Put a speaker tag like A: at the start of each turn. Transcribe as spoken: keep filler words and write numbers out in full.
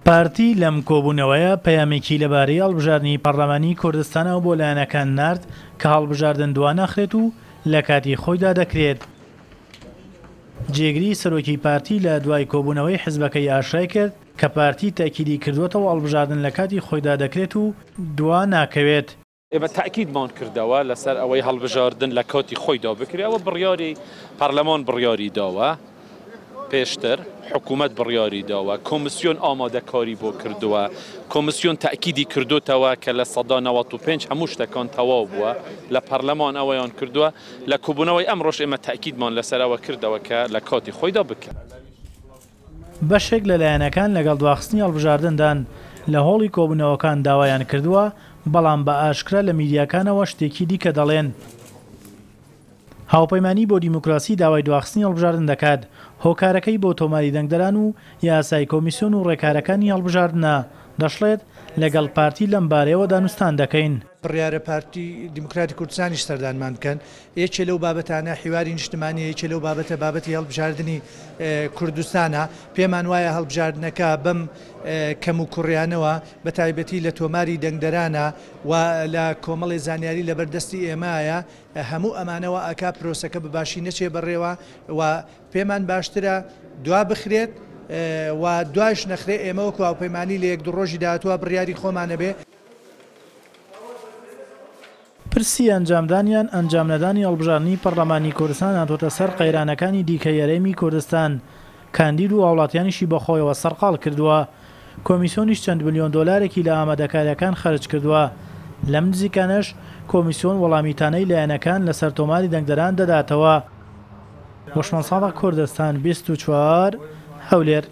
A: پارتی لەم کۆبوونەوەیە پەیامێکی لەبارەی هەڵبژاردنی پەرلەمانی کوردستانەوە بۆ لایەنەکان نارد کە هەڵبژاردن دواناخرێت و لە کاتی خۆیدا دەکرێت. جێگری سەرۆکی پارتی لە دوای کۆبوونەوەی حزبەکەی ئاشکرای کرد کە پارتی تەئکیدی کردووەتەوە هەڵبژاردن لە کاتی خۆیدا دەکرێت و دوا ناکەوێت.
B: ئێمە تەئکیدمان کردەوە لەسەر ئەوەی هەڵبژاردن لە کاتی خۆیدا بکرێت، ئەوە بڕیاری پەرلەمان بڕیاری داوە، پێشتر حکوومەت بڕیاری داوە، کۆمیسیۆن ئامادەکاری بۆ کردووە، کۆمیسیۆن تەئکیدی کردوتەوە کە لە سەدا نەوەت و پێنج هەموو شتەکان تەواو بووە، لە پەرلەمان ئەوەیان کردووە. لە کۆبوونەوەی ئەمڕۆش ئێمە تەئکیدمان لەسەر ئەوە کردەوە کە لە کاتی خۆیدا بکرێت.
A: بەشێک لە لایەنەکان لەگەڵ دواخستنی هەڵبژاردندان لە هۆڵی کۆبوونەوەکان داوایان کردووە، بەڵام بە ئاشکرا لە میدیاکانەوە شتێکی دیکە دەڵێن. هاوپەیمانی بۆ دیموکراسی داوای دواخستنی هەڵبژاردن دەکات، هۆکارەکەی بۆ تۆماری دەنگدەران و یاسای کۆمیسیۆن و ڕێکارەکانی هەڵبژاردنە. دەشڵێت لەگەڵ پارتی لەم بارەیەوە دانوستان دەکەین.
C: بڕیارە پارتی دیموکراتی کوردستانیش سەردانمان بکەن. یەکێ لەو بابەتانە حیواری نیشتمانیە، یەکێ لەو بابەتە بابەتی هەڵبژاردنی کوردستانە. پێمان وایە هەڵبژاردنەکە بەم کەم و کوڕیانەوە بە تایبەتی لە تۆماری دەنگدەرانە و لە کۆمەڵی زانیاری لەبەردەستی ئێمایە، هەموو ئەمانەوە ئەکا پرۆسەکە بەباشی نەچێ بەڕێوە و پێمان باشترە دوا بخرێت و دوایش نەخرێ. ئێمە وەکو هاوپەیمانی لە یەک دوو ڕۆژی داهاتووە بڕیاری خۆمانە بێ.
A: پرسی ئەنجامدانیان ئەنجام نەدانی هەڵبژاردنی پەرلەمانی کوردستان هاتووەتە سەر قەیرانەکانی دیکەی هەرێمی کوردستان، کاندید و هاوڵاتیانیشی بەخۆیەوە سەرقاڵ کردووە. کۆمیسیۆنیش چەند ملیۆن دۆلارێکی لە ئامادەکاریەکان خەرج کردووە. لەم نزیکانەش کۆمیسیۆن وەڵامی تانەی لایەنەکان لەسەر تۆماری دەنگدەران دەداتەوە. هۆشمەند ساڵح، کوردستان بیست و چوار، هەولێر.